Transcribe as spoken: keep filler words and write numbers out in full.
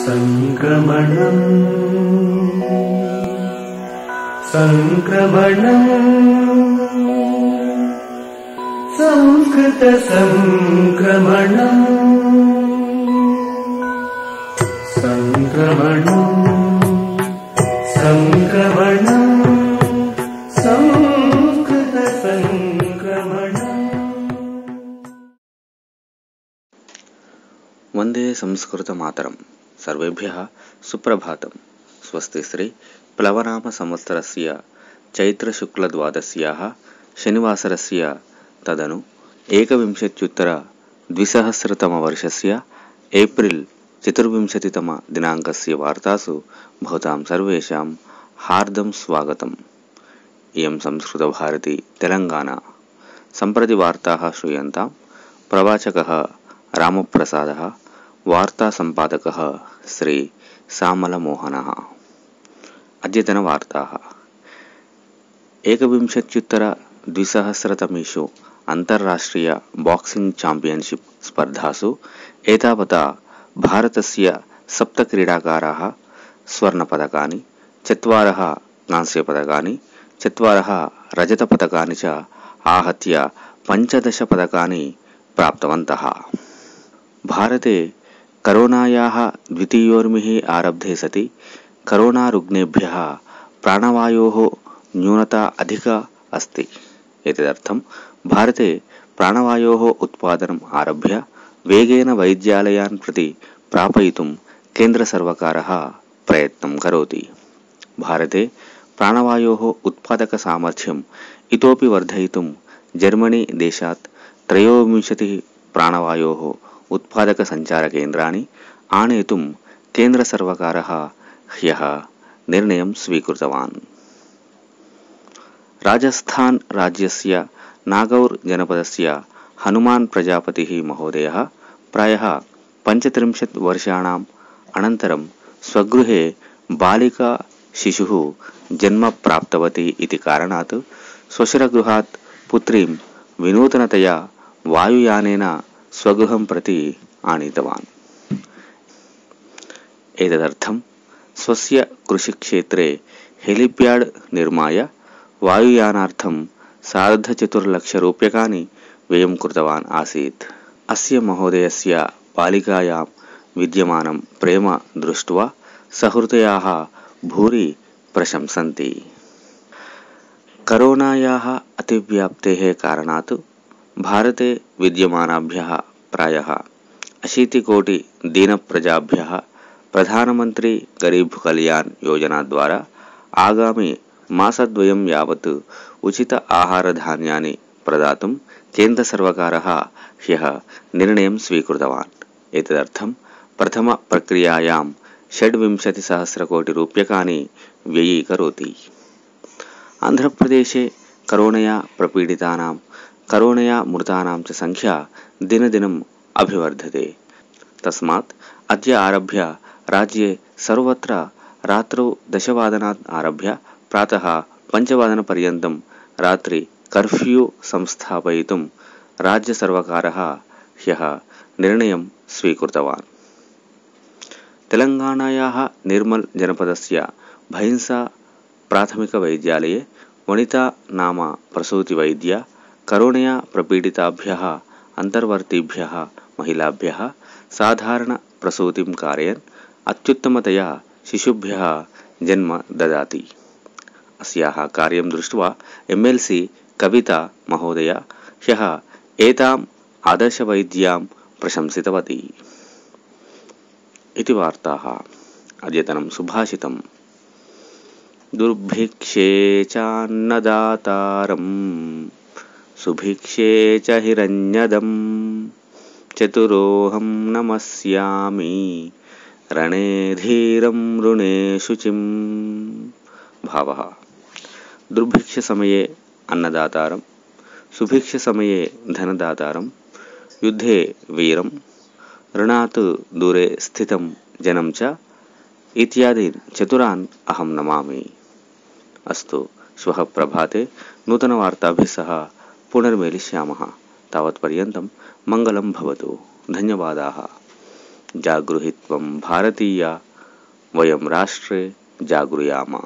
संक्रमणं संक्रमणं संस्कृत संक्रमणं संक्रमणं संक्रमणं संस्कृत संक्रमणं। वंदे संस्कृत मातरं। सर्वेभ्यः सुप्रभातं। स्वस्ति श्री प्लवनाम संवत्सरस्य चैत्रशुक्लद्वादश्याः शनिवासरस्य तदनु एकविंशत्युत्तर द्विसहस्रतमवर्षस्य एप्रिल चतुर्विंशतितम दिनाङ्कस्य वार्तासु भवतां सर्वेषां हार्दं स्वागतम्। इयं संस्कृतभारती तेलंगाना। सम्प्रति वार्ताः श्रूयन्तां। प्रवाचकः रामप्रसादः, वार्ता सम्पादकः श्री सामलमोहनः। अद्यतनवार्ताः। एकविंशत्युत्तर द्विसहस्रतमेषु अन्ताराष्ट्रिय बॉक्सिंग चैम्पियनशिप स्पर्धासु एतावता भारतस्य सप्त क्रीडाकाराः स्वर्णपदकानि, चत्वारः कांस्यपदकानि, चत्वारः रजतपदकानि च आहत्य पञ्चदश पदकानि प्राप्तवन्तः। भारते करोनायाः द्वितीयोर्मिः आरब्धे सति करोनारुग्णेभ्यः प्राणवायोः न्यूनता अधिका अस्ति। एतदर्थं भारते प्राणवायोः उत्पादनम् आरभ्य वेगेन वैद्यालयान् प्रति प्रापयितुं केन्द्रसर्वकारः प्रयत्नं करोति। भारते प्राणवायोः उत्पादकसामर्थ्यम् इतोपि वर्धयितुं जर्मनी देशात् त्रयोविंशतिः प्राणवायोः उत्पादकसञ्चारकेन्द्राणि आनेतुं केन्द्रसर्वकारः ह्यः निर्णयं स्वीकृतवान्। राजस्थान राज्यस्य नागौर जनपदस्य हनुमान् प्रजापतिः महोदयः प्रायः पञ्चत्रिंशत् वर्षाणाम् अनन्तरं स्वगृहे बालिका शिशुः जन्म प्राप्तवती इति कारणात् श्वशुरगृहात् पुत्रीं विनूतनतया वायुयानेन स्वगृहं प्रति आनीतवान्। एतदर्थं स्वस्य कृषिक्षेत्रे हेलिप्याड् निर्माय वायुयानार्थं सार्धचतुर्लक्षरूप्यकाणि व्ययं कृतवान् आसीत्। अस्य महोदयस्य बालिकायां विद्यमानं प्रेम दृष्ट्वा सहृदयाः भूरि प्रशंसन्ति। करोनायाः अतिव्याप्तेः कारणात् भारते विद्यमानाभ्यः प्रायः अशीतिकोटि दीनप्रजाभ्यः प्रधानमन्त्री गरीब कल्याण योजना द्वारा आगामि मासद्वयं यावत् उचित आहारधान्यानि प्रदातुं केन्द्रसर्वकारः ह्यः निर्णयं स्वीकृतवान्। एतदर्थं प्रथमप्रक्रियायां षड्विंशतिसहस्रकोटिरूप्यकाणि व्ययीकरोति। आन्ध्रप्रदेशे करोनया प्रपीडितानां, करोनया मृतानां च संख्या दिनदिनम् अभिवर्धते। तस्मात् अद्य आरभ्य राज्ये सर्वत्र रात्रौ दशवादनात् आरभ्य प्रातः पञ्चवादनपर्यन्तं रात्रि कर्फ्यू संस्थापयितुं राज्यसर्वकारः ह्यः निर्णयं स्वीकृतवान्। तेलंगाणायाः निर्मल जनपदस्य भैंसा प्राथमिकवैद्यालये वनिता नाम प्रसूतिवैद्या करोनया प्रपीडिताभ्यः अन्तर्वर्तिभ्यः महिलाभ्यः साधारण प्रसूतिं कारयन् अत्युत्तमतया शिशुभ्यः जन्म ददाति। अस्याः कार्यं दृष्ट्वा एम् एल् सी कविता महोदया ह्यः एताम् आदर्शवैद्यां प्रशंसितवती इति वार्ताः। अद्यतनं सुभाषितम्। दुर्भिक्षे चान्नदातारं सुभिक्षे च हिरण्यदम् चतुरोऽहं नमस्यामि रणे धीरं ऋणे शुचिम्। भावः। दुर्भिक्ष समये अन्नदातारं, सुभिक्ष समये धनदातारं, युद्धे वीरं, ऋणात् दूरे स्थितं जनं च इत्यादीन् चतुरान् अहं नमामि। अस्तु, श्वः प्रभाते नूतनवार्ताभिः सह पुनर्मेलिष्यामः। तावत्पर्यन्तं मङ्गलं भवतु। धन्यवादाः। जागृहि त्वं भारतीया वयं राष्ट्रे जागृयाम।